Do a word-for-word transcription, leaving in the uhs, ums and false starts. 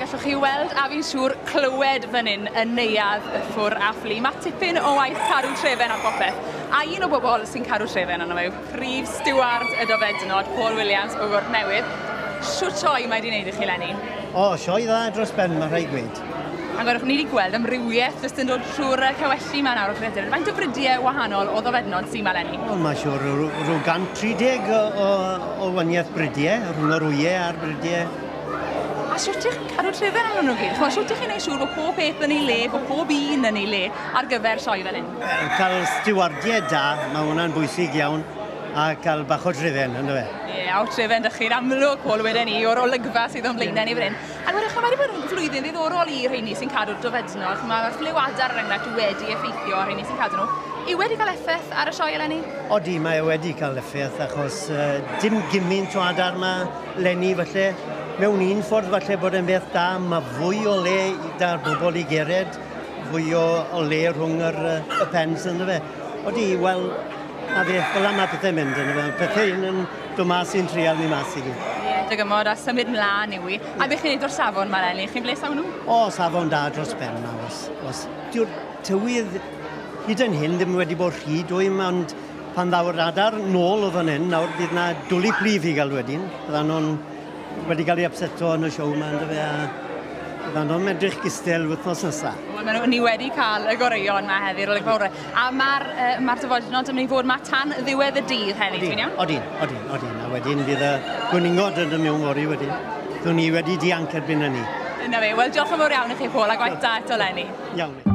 gallwch chi weld a fi'n siŵr clywed fan hyn yn neuadd y Ffwr a Ffli. Mae tipyn o waith cadw trefen ar bopeth. A un o bobl sy'n cadw trefen arno fe yw prif stiward y dofednod, Paul Williams o Gwrt Newydd. Shwt sioe mae wedi wneud i chi 'leni? O, sioe dda dros ben, mae rhaid gweud. A gwelwch, ni wedi gweld amrywiaeth jyst yn dod trwy'r cawelli 'ma nawr o creadur. Faint o fridiau wahanol o ddofednod sy'n 'ma 'leni? O, mae siŵr rhyw gant tri deg o, o, o waniaeth bridiau, rhwng yr wyau a'r bridiau. A shwt ych chi'n cadw trefen arnyn nhw gyd? Ch'mod, shwt ych chi'n neud siŵr bod pob peth yn ei le, bod pob un yn ei le ar gyfer sioe fel hyn? Wel, cael stiwardiau da, mae hwnna'n bwysig iawn, a cael bach o trefen, ynddo fe? Ie, yeah, o trefen dych chi'n amlwg, Paul, wedyn ni, o'r olygfa sydd o'n blaenau ni fan hyn. A gwedwch, mae wedi bod yn flwyddyn ddiddorol i rheini sy'n cadw'r dofednod. Mae'r ffliw adar, er enghraifft, wedi effeithio ar rheini sy'n cadw nhw. Yw wedi cael effaith ar y sioe eleni? Odi, mae e wedi cael effaith, achos uh, dim gymaint o adar 'ma 'leni, falle. Mewn un ffordd falle bod e'n beth da, mae fwy o le da'r bobl i gered, fwy o, o le rhwng yr, y pens, ynddo fe. Odi, wel, a fe, fel yma pethau'n mynd, ynddo fe. Pethau un yn dod mas i'n trial ni mas i gyd. Ie, dygymod a symud mlaen yw i. A beth chi'n neud o'r safon 'ma 'leni? Chi'n bles iawn nhw? O, safon da dros ben, na, os. Os dyw'r tywydd hyd yn hyn ddim wedi bod rhy dwym, ond pan ddaw'r adar nôl o fan hyn, nawr bydd na dwlu plif i gael wedyn. Byddan nhw'n wedi cael ei upseto yn y siow yma, ynddo fe, a byddan nhw'n edrych gystel wythnos nesaf. Wel, ma' nhw, ni wedi cael y goreuon yma heddi'r olygfa orau. A mae'r uh, ma dofednod yn mynd i fod 'ma tan ddiwedd y dydd heddi, dwi'n iawn? Odyn, odyn, odyn. A wedyn fydd y gwningod yn dod mewn fory wedyn. Byddwn ni wedi dianc erbyn hynny. Yna fe. Wel, diolch yn fawr iawn i chi, Paul, a gwaith da eto 'leni. Iawn.